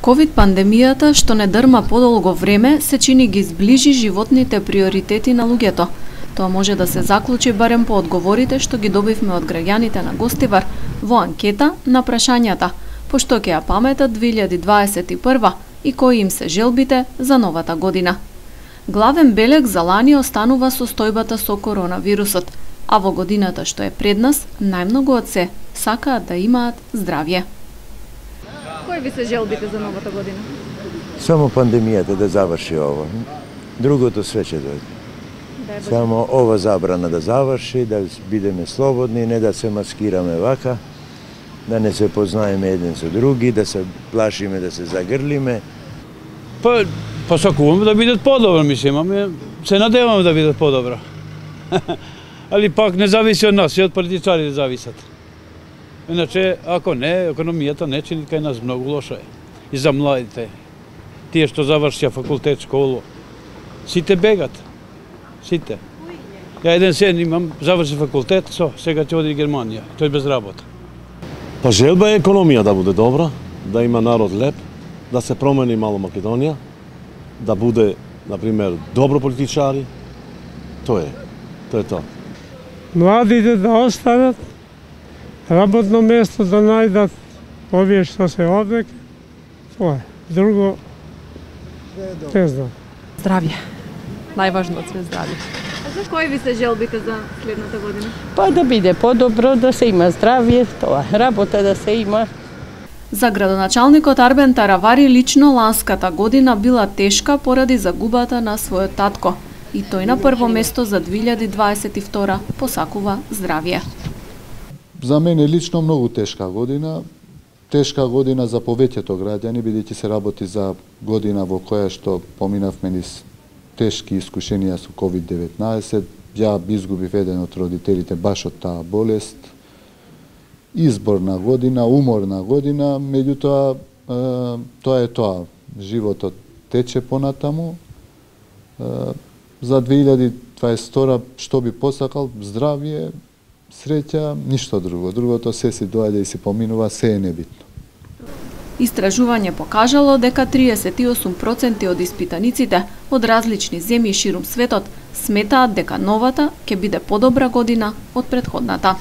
Ковид пандемијата, што не дрма подолго време, се чини ги зближи животните приоритети на луѓето. Тоа може да се заклучи барем по одговорите што ги добивме од граѓаните на Гостивар во анкета на прашањата пошто ќе ја паметат 2021 и кои им се желбите за новата година. Главен белег за лани останува состојбата со коронавирусот, а во годината што е пред нас, најмногу од се сакаат да имаат здравје. Кои ви се желбите за новата година? Само пандемијата да заврши ова. Другото све ќе дојде. Само ова забрана да заврши, да бидеме слободни, не да се маскираме вака, да не се познаеме еден со други, да се плашиме, да се загрлиме. Посакуваме да бидат подобро, мислим, ами се надеваме да бидат подобро. Али пак не зависи од нас, и од политичарите зависат. Иначе, ако не, економијата не чини кај нас многу лошо е. И за младите, тие што завршија факултет, школу, сите бегат. Сите. Ја еден сен имам, заврши факултет, сега ќе оди в Германија, тој без работа. Па желба е економија да биде добра, да има народ леп, да се промени мало Македонија, да биде, например, добро политичари. Тоа е тоа. Младите да останат, работно место да најдат овие што се овде, тоа е. Друго, не знам. Здравје. Најважно од све здравје. А за кои ви се желбите за следната година? Па да биде подобро, да се има здравје, тоа, работа да се има. За градоначалникот Арбен Таравари лично ланската година била тешка поради загубата на својот татко. И тој на прво место за 2022 посакува здравје. За мене лично многу тешка година. Тешка година за повеќето граѓани, бидејќи се работи за година во која што поминавме низ тешки искушенија со COVID-19. Ја изгубив еден од родителите баш од таа болест. Изборна година, уморна година, меѓутоа тоа е тоа. Животот тече понатаму. За 2022 што би посакал, здравје, среќа, ништо друго. Другото се си доаѓа и си поминува, се е небитно. Истражување покажало дека 38% од испитаниците од различни земји ширум светот сметаат дека новата ќе биде подобра година од претходната.